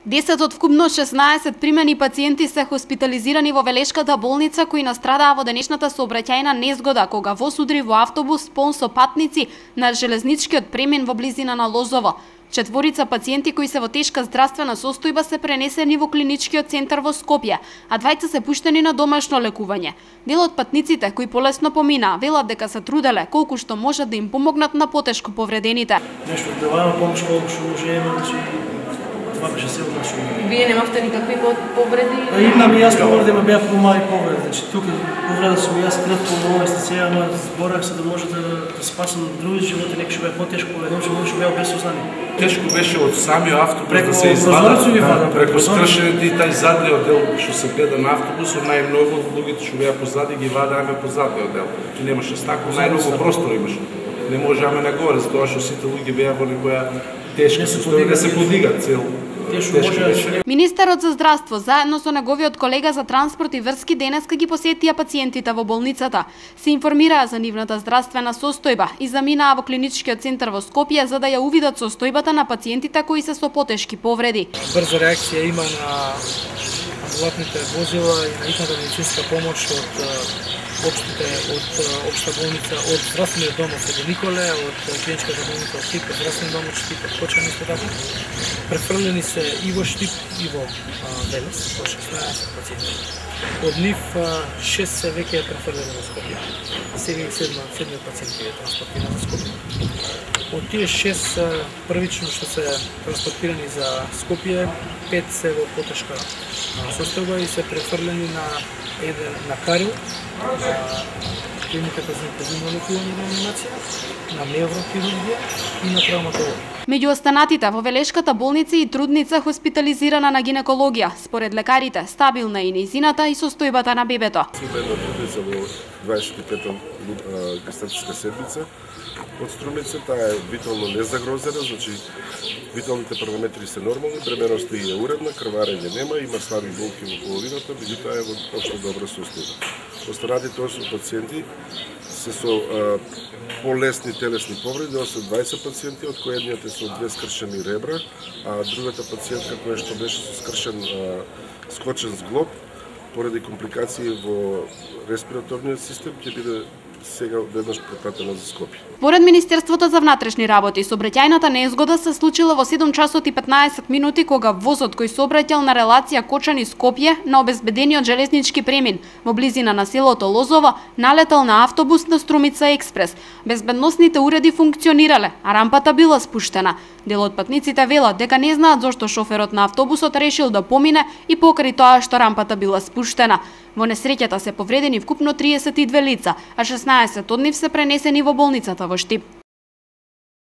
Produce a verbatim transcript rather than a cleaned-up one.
десет од вкупно шеснаесет примени пациенти се хоспитализирани во Велешката болница кои настрадаа во денешната сообраќајна незгода кога воз удри во автобус полн со патници на железничкиот премин во близина на Лозово. Четворица пациенти кои се во тешка здравствена состојба се пренесени во клиничкиот центар во Скопје, а двајца се пуштени на домашно лекување. Дел од патниците кои полесно поминаа велат дека се труделе колку што можат да им помогнат на потешко повредените. Нешто даваме помош колку што можеме, значи това беше силно нешто. Вие немавте никакви повреди? Па имам и јас повреди, ма беа помали повреди. Значи тука повреда сум јас кратко во естиција, ама зборах се да може да, да спасам други животи, некој што беа потешко повреден, што може беа без сознание. Тешко беше од самиот автобус да се извада, да, преку скршените и тај задниот дел што се гледа на автобусот, најмногу од луѓето што беа позади ги вадеаме по задниот дел. И немаше стакло, најмногу простор имаше. Не можеаме нагоре, затоа што сите луѓе беа во некоја тешка состојба да се подигат цел. Министерот за здравство заедно со неговиот колега за транспорт и врски денеска ги посетија пациентите во болницата. Се информираа за нивната здравствена состојба и заминаа во клиничкиот центар во Скопје за да ја увидат состојбата на пациентите кои се со потешки повреди. Брза реакција има на амбулатните возила и на итната медицинска помош од општите, од општа болница, од здравствениот дом од Свети Николе, од клиничката болница од Штип, од здравствен дом од Штип, од Кочани исто така. Префрлени се и во Штип и во Велес, по шеснаесет пациенти. Од нив шест се веќе е префрлени во Скопје. Сега и седмиот пациент е транспортиран за Скопје. Од тие шест првично што се транспортирани за Скопје, пет се во потешка состојба и се префрлени на еден на Карил, на клиниката за интензивно лекување и реанимација, на неврохирургија и на травматологија. Меѓу останатите во Велешката болница и трудница хоспитализирана на гинекологија. Според лекарите, стабилна е и нејзината и состојбата на бебето. Една трудница во дваесет и пета гестатичка седмица од Струмица, таа е витално незагрозена, значи виталните параметри се нормални, бременоста е уредна, крварење нема, има слаби болки во половината, меѓутоа е во општо добра состојба. Останатите осум пациенти се со а, полесни телесни повреди, осем дваесет пациенти, од кои едниот е со две скршени ребра, а другата пациентка која што беше со скршен а, скочен зглоб, поради компликации во респираторниот систем, ќе биде сега веднаш препратена за Скопје. Според Министерството за внатрешни работи, сообраќајната незгода се случила во седум часот и петнаесет минути кога возот кој сообраќал на релација Кочани-Скопје на обезбедениот железнички премин во близина на селото Лозово налетал на автобус на Струмица Експрес. Безбедносните уреди функционирале, а рампата била спуштена. Дел од патниците велат дека не знаат зошто шоферот на автобусот решил да помине и покрај тоа што рампата била спуштена. Во несреќата се повредени вкупно триесет и две лица, а шеснаесет од нив се пренесени во болницата во Штип.